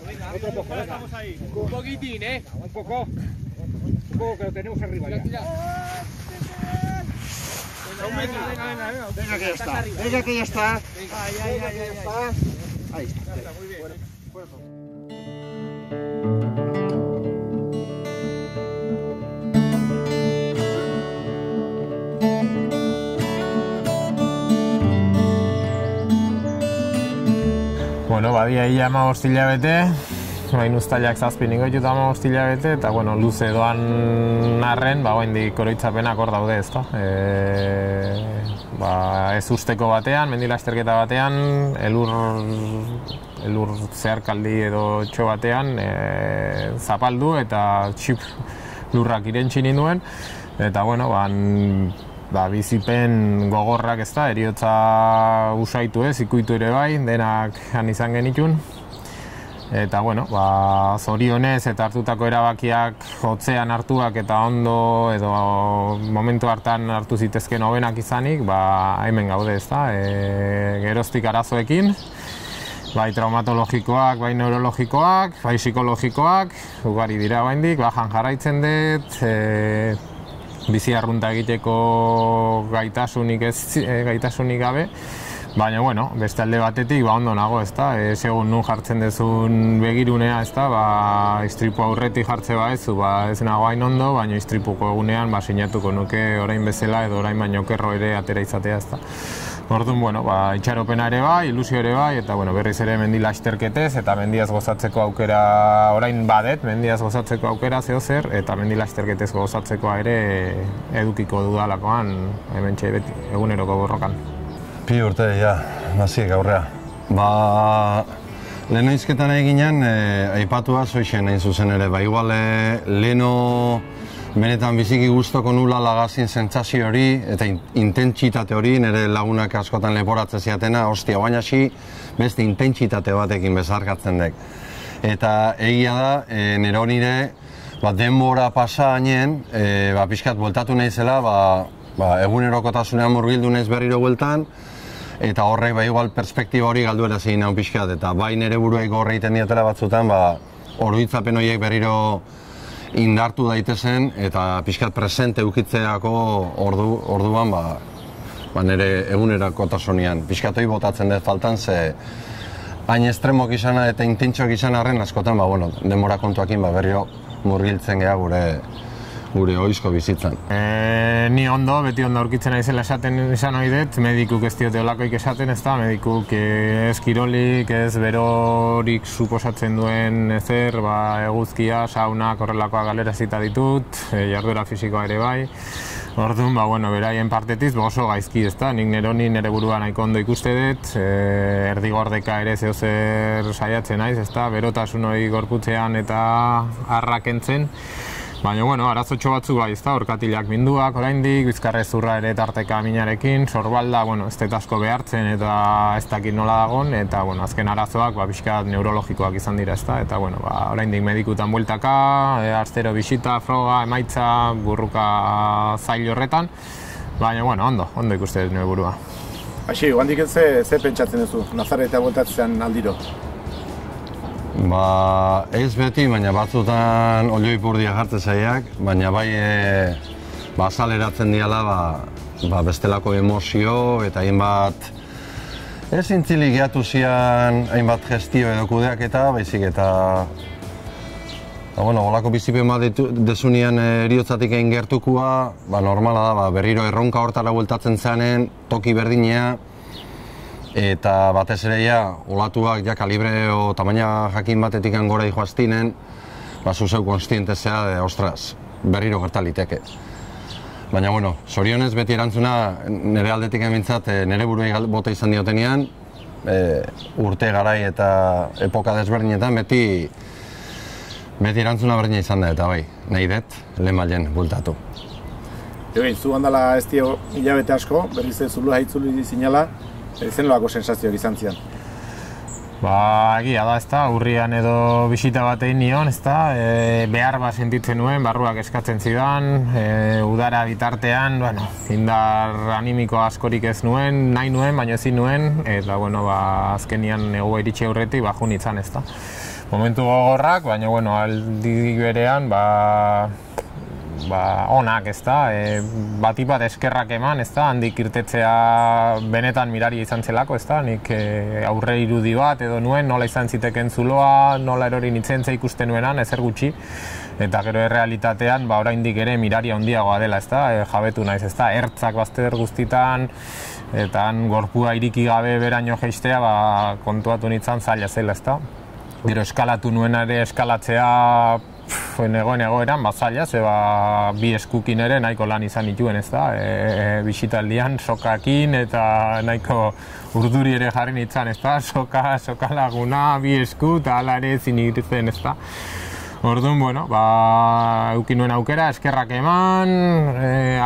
Otro poco, venga. Un poquitín, Un poco. Un poco que lo tenemos arriba ya. Venga que ya está. Venga que ya está. Ahí está. Muy bien. Bueno, badia ia 15 hilabete, bain uztailak 7 ingoitu eta 15 hilabete, eta bueno, luze doan arren, oraindik oroitzapenak hor daude, ezta. Ez usteko batean, mendi lasterketa batean, elur zeharkaldi edo txo batean zapaldu eta txip lurrak irentsi ninduen, eta bueno, bizipen gogorrak ez da, heriotza usaitu ikuitu ere bai, denak han izan genitun. Eta bueno, zorionez eta hartutako erabakiak hotzean hartuak eta ondo edo momentu hartan hartu zitezken hobenak izanik, hemen gaude ez da, geroztik arazoekin, bai traumatologikoak, bai neurologikoak, bai psikologikoak, ugari dira oraindik, jan jarraitzen dut, bizi arrunta egiteko gaitasunik gabe, baina bueno, beste alde batetik ondo nago, ezta, segun nun jartzen dezun begirunea, ezta, istripu aurretik jartze baezu, ez nago hain ondo, baina istripuko egunean sinatuko nuke orain bezala edo orain baino okerro ere atera izatea, ezta. Orduan, bueno, itxaropena ere bai, ilusio ere bai, eta bueno, berriz ere mendi lasterketez eta mendiaz gozatzeko aukera, orain badet, mendiaz gozatzeko aukera zehozer, eta mendi lasterketez gozatzekoa ere edukiko dudalakoan, hementxe beti, eguneroko borrokan. Pi urte, ja, naziek aurrea. Leheno izketan eginean, aipatua zoixen hain zuzen ere, igual leheno benetan biziki guztoko nula lagazin sentsazio hori eta intentsitate hori, nire lagunak askotan leporatzen ziatena, ostia, baina beste intentsitate batekin bezarkatzen dek. Eta egia da, nire honire, denbora pasa hainen, pixkat bueltatu nahizela, egunerokotasunean murgildu nahiz berriro bueltan, eta horrek igual perspektiba hori galduera zein nahi pixkat, eta bai nire buruek horre egiten diatela batzutan, oroitzapen horiek berriro indartu daitezen eta pixkat presente eukitzeako orduan nire egunerakotasunean. Pixkat hori botatzen dut faltan, ze hain estremok izana eta intentxoak izan arren askotan, denbora kontuakin berriro murgiltzen geha gure oizko bizitzan. Ni ondo, beti ondo aurkitzen naizela esaten izan ohi dut, medikuk ez diote olakoik esaten, ez da, medikuk ez kirolik, ez berorik suposatzen duen ezer, eguzkia, saunak, horrelakoa galerazita ditut, jarduera fisikoa ere bai. Orduan, beraien partetiz oso gaizki, ez da, nik nire burua nahiko ondo ikuste dut, erdigordeka ere zehozer saiatzen naiz, ez da, berotasun hori gorputzean eta harrakentzen. Baina, arazotxo batzu bai, ez da, orkatilak minduak oraindik, bizkarrezurra ere tarteka minarekin, sorbalda, ez dut asko behartzen eta ez dakit nola dagon, eta, azken arazoak, pixkat neurologikoak izan dira, ez da, eta, oraindik medikutan bueltaka, astero bisita, froga, emaitza, burruka zail horretan, baina, ondo ikuste dut nire burua. Aixi, handik ze pentsatzen duzu, Nazaretea bueltatzean aldiro? Ez beti, baina batzutan olioi purdia jartzen zaiak, baina bai azaleratzen diala bestelako emozio eta hainbat ez intzilik gehiatu zian hainbat gestio edo kudeak eta baizik eta olako bizipen bat desunean eriotzatik egin gertukua, normala da, berriro erronka hortara bueltatzen zanen, toki berdinea, eta batez ere olatuak kalibre o tamaina jakin batetik gora joaztinen, zuzeu konstientezea, ostras, berriro gertaliteke. Baina, zorionez beti erantzuna nire aldetik emintzat, nire buruei bota izan diotenean, urte garai eta epoka desberdinetan beti erantzuna berdina izan da, eta bai, nahi dut, lehen mailen bueltatu. Zu handala ez dio hilabete asko, berriz ez zulua haitzuli zinala, zen loako sensazioak izan zian? Egia da, ezta, urrian edo bisita bat egin nion, ezta, behar bat sentitzen nuen, barruak eskatzen zidan, udara bitartean, indar animiko askorik ez nuen, nahi nuen, baina ezin nuen, eta, azkenian ego iritsi aurretik, jun itzan, ezta. momentu gogorrak, baina, bueno, aldi berean, onak, ez da, batik bat eskerrak eman, ez da, handik irtetzea benetan miraria izan zelako, ez da, nik aurre irudi bat edo nuen, nola izan ziteken zuloa, nola erori nintzen ikusten nuenan, ezer gutxi, eta gero errealitatean, oraindik ere miraria handiagoa dela, ez da, jabetu naiz, ez da, ertzak bazter guztitan, eta gorpua iriki gabe beraino jeistea, kontuatu nintzen zaila zela, ez da. Gero eskalatu nuen ere eskalatzea negoen egoeran, zaila, ze bi eskukin ere nahiko lan izan nituen, ez da, bisitaldian, sokakin eta nahiko urduri ere jarri nintzen, ez da, soka laguna, bi esku, eta ala ere ezin irten, ez da. Orduan, bueno, eukin nuen aukera, eskerrak eman,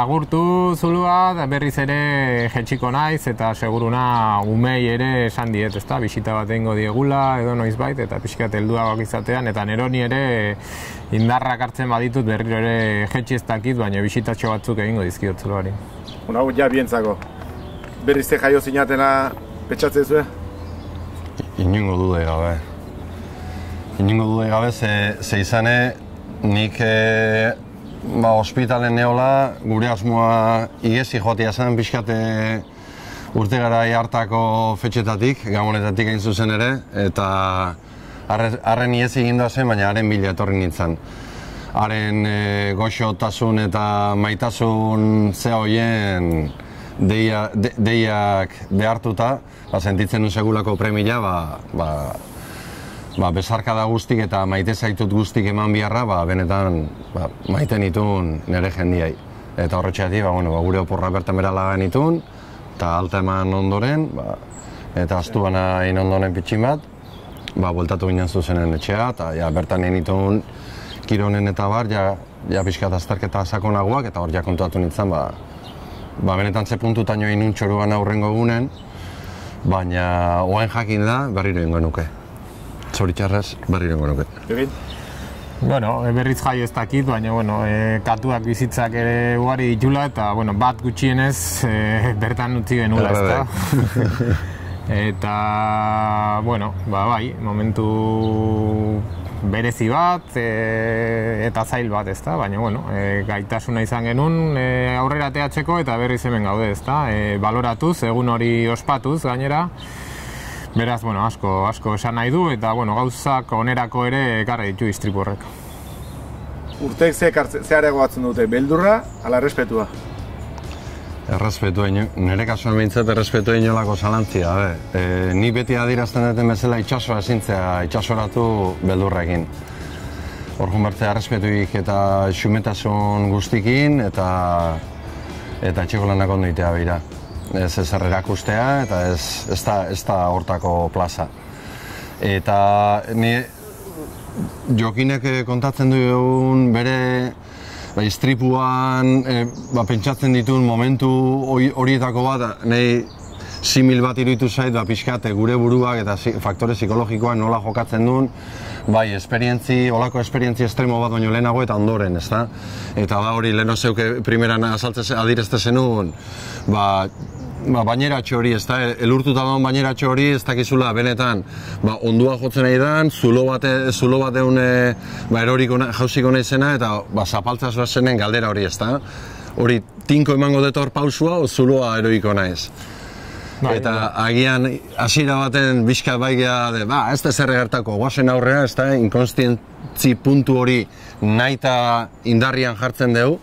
agurtu zulua, berriz ere jetxiko naiz, eta seguruna umei ere esan diet, ezta, bisita bat egingo diegula, edo noizbait, eta pixkat helduagoak izatean, eta neroni ere indarrak hartzen baditut berriro ere jetxi ez dakit, baina bisitatxo batzuk egingo dizkiot zuloari. Hau ja bientzako, berriz te jaio zinatena petxatzen zuen? Inongo dude gabe. Inongo dude gabe, ze izane, nik ospitalen neola, gure asmoa igezi joatia zen, pixkate urte garai hartako fetxetatik, Gabonetatik hain zuzen ere, eta harren igezi egindoa zen, baina haren bila etorri nintzen. Haren goxotasun eta maitasun ze hoien deiak behartuta, sentitzen nuen segulako premia, besarkada guztik eta maite zaitut guztik eman biharra, benetan maite nituen nire jendiai. Eta horretxeatik, gure oporra bertan berala nituen, eta alta eman ondoren, eta astu bana ondoren pitxin bat, bueltatu ginen zuzenen etxea, eta bertan nituen kironen eta bar, pixkat azterketa sakonagoak, eta hor kontuatu nintzen, benetan ze puntutan joan nun txoruan aurrengo egunen, baina oen jakin da berriro ingo nuke. Zoritxarrez, berriro ingo nuke. Egin? Bueno, berriz jai ez dakit, baina katuak bizitzak ere ugari ditula eta bat gutxienez bertan utzi genula, ez da? Eta, bai, momentu berezi bat eta zail bat, ez da? Baina, gaitasuna izan genuen aurrera ateatzeko eta berriz hemen gaude, ez da? Baloratuz, egun hori ospatuz gainera. Beraz, asko esan nahi du eta gauzak onerako ere ekarri ditu istripu horrek. Urteek zeharego batzen dute, beldurra ala errespetua? Errespetua, nire kasuan behintzat errespetua inolako zalantzia. Ni beti adierazten duten bezala itxasoa ezintzea, itxasoratu beldurrekin. Orkun bertzea errespetuik eta xumetasun guztikin eta etxeko lanak ondo itea behira. Ez ezer erakustea eta ez da hortako plaza. Eta Jokinek kontatzen duen bere istripuan pentsatzen dituen momentu horietako bat, nahi simil bat iruditu zait, pixkat gure buruak eta faktore psikologikoak nola jokatzen duen, bai, olako esperientzi estremo bat baino lehenago eta ondoren, ezta? Eta hori leheno zeuke primeran adirezte zenuen, baineratxo hori, ez da, elurtuta daun baineratxo hori, ez dakizula benetan, ondua jotzen nahi dan, zulo bat egun jauziko nahi zena, eta zapaltzaz bat zenen galdera hori, ez da. Hori, tinko emango detor pausua, o zuloa eroiko naiz. Eta agian, hasiera baten bizkat baigea, ez da zer gertako, guazen aurrea, ez da, inkonstientzi puntu hori nahi eta indarrian jartzen dugu,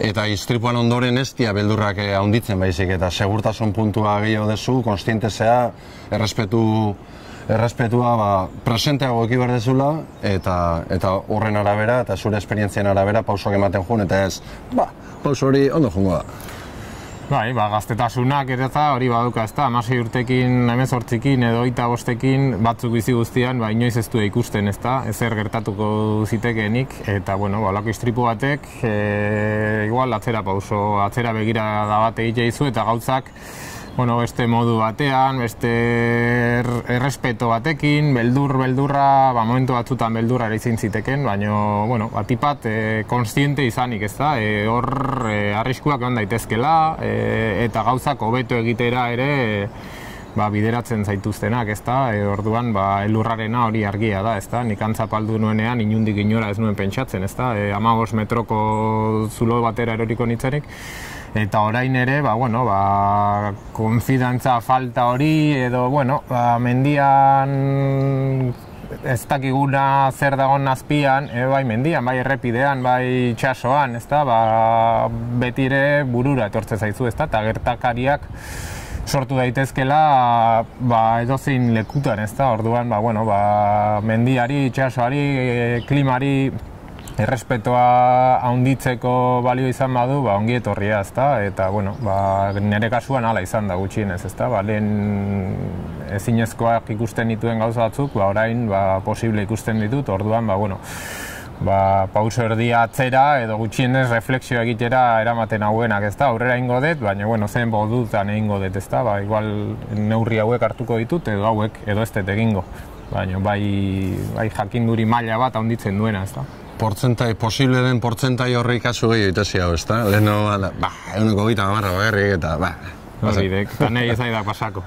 eta istripuan ondoren ez dia beldurrak handitzen baizik, eta segurtasun puntua gehiago dezu, konstientezea, errespetua presenteago eki behar dezula, eta horren arabera, eta zure esperientzien arabera pausoak ematen joan, eta ez, pauso hori ondo joango da. Bai, gaztetasunak eta hori baduka, ez da, 16 urtekin, 18ekin edo 25ekin batzuk bizi guztian, inoiz ez du ikusten, ez da, ezer gertatuko zitekeenik, eta, lako istripu batek, igual, atzera begira da bat egite izu, eta gauzak, beste modu batean, beste errespeto batekin, beldurra, momentu batzutan beldurra ere izin ziteken, baina, batipat, konstiente izanik, ez da, hor arriskuak egon daitezkela, eta gauzak hobeto egitera ere bideratzen zaituztenak, ezta? Orduan elurrarena hori argia da, ezta? Nik antzapaldu nuenean inundik inora ez nuen pentsatzen, ezta? 15 metroko zulo batera eroriko nitzenik. Eta orain ere, konfidantza falta hori edo, mendian ez dakiguna zer dagoen azpian, bai mendian, bai errepidean, bai itxasoan, ezta? Betire burura etortze zaizu, ezta? Eta gertakariak sortu daitezkela edozein lekutan, ezta? Orduan, mendiari, itxasoari, klimari errespetoa handitzeko balio izan badu, ongi etorria, ezta? Eta, nire kasuan hala izan da gutxienez, ezta? Lehen ezinezkoak ikusten dituen gauza batzuk, orain posible ikusten ditut, orduan, pauso erdia atzera edo gutxienez reflexio egitera eramaten hauenak, ezta? Aurrera ingo dut, baina, zen bodutan egingo dut, ezta? Igual neurri hauek hartuko ditut edo hauek edo ez dut egingo. Baina, bai jakinduri maila bat handitzen duena, ezta? Posible den portzentai horri kasu gehiago itezi hau, ezta? Leheno, 130 bakarrik eta, Horridek, eta nahi ez da pasako.